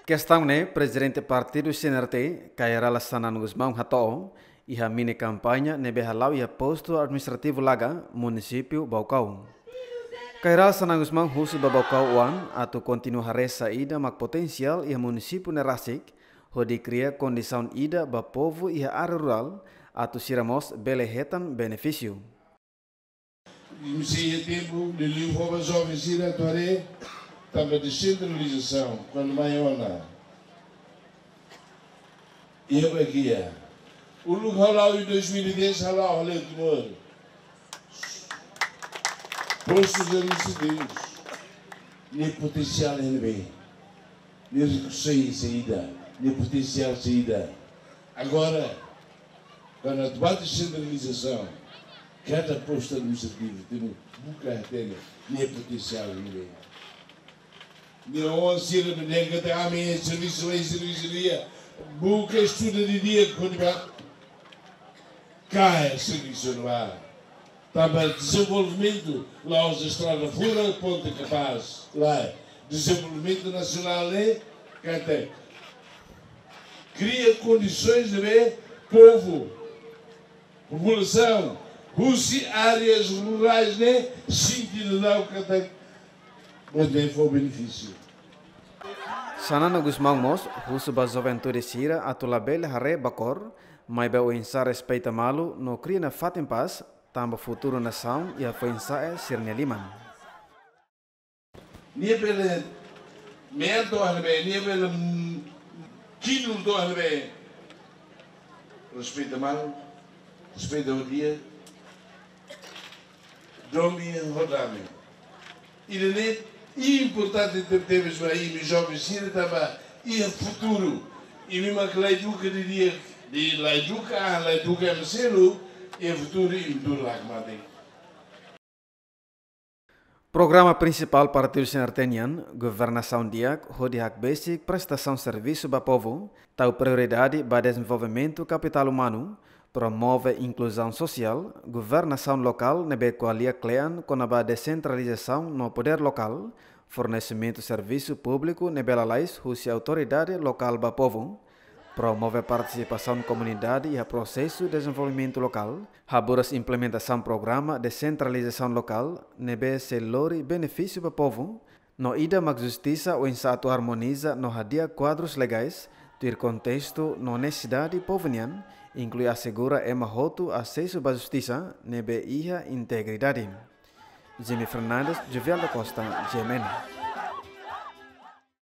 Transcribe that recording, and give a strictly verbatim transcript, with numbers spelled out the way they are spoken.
Kestaun ne'e Prezidente Partidu C N R T, Kay Rala Xanana Gusmão hato'o iha mini kampaña ne'ebé hala'o iha postu administrativu Laga, munisípiu Baucau. Kay Rala Xanana Gusmão husu ba Baucau oan atu kontinua haree saida mak potensiál iha munisípiu ne'e rasik, hodi kria kondisaun ida ba povu iha área rurál atu sira mós bele hetan benefísiu. Imi sei iha tempu, liuliu fó ba joven sira atu haree, tanba desentralizasaun, kuandu mai ona. Iha ba kia. Uluk hala'o iha dois mil e dez, hala'o hale Timor. Postus administrativus. Nia potensiál ne'ebé. Nia rekursu saida, nia potensiál saida. Agora, kuandu atu ba desentralizasaun, kada postu administrativu tenke buka hatene nia potensiál ne'ebé. Nia oan sira ne'ebé dehan katak ami servisu, ami servisu di'ak, buka estuda didi'ak hodi ba. Kaer servisu ne'ebá. Tanba dezenvolvimentu la'ós estrada furak, ponte kapás. Lae, dezenvolvimentu nasionál ne'e katak kria kondisoens ne'ebé povu, populasaun husi áreas rurais ne'e sente daudauk katak bele fó benefísiu. Xanana Gusmão mós husu ba juventude sira atu labele haree ba kór, maibé oinsá respeita malu no kria nafatin pás, tanba futuru nasaun iha foin-sa'e sira-nia liman. Nia bele mean to'o iha ne'ebé, nia bele, mm, kinu to'o iha ne'ebé. Respeita malu, respeita ho di'ak, domin ho dame. Ida-ne'e importante tebetebes ba imi joven sira tanba iha futuru. Imi mak la eduka didi'ak, la eduka, la eduka ema seluk, iha futuru imi tuur la hakmatek. Programa prinsipál Partidu C N R T nian, governasaun di'ak hodi hakbesik prestasaun servisu ba povu, tau prioridade ba dezenvolvimentu kapitál umanu, promove inkluzaun sosiál, governasaun lokál ne'ebé ko'alia kle'an kona-ba desentralizasaun no podér lokál, fornesimentu servisu públiku ne'ebé lalais husi autoridade lokál ba povu, promove partisipasaun komunidade iha prosesu dezenvolvimentu lokál, haburas implementasaun programa desentralizasaun lokál ne'ebé sei lori benefísiu ba povu, no ida mak justisa oinsá atu armoniza no hadi'a kuadrus legais tuir kontestu no nesesidade povu nian, inklui asegura ema hotu asesu ba justisa ne'ebé iha integridade. Jimmy Fernandes, Jovial da Costa, G M N.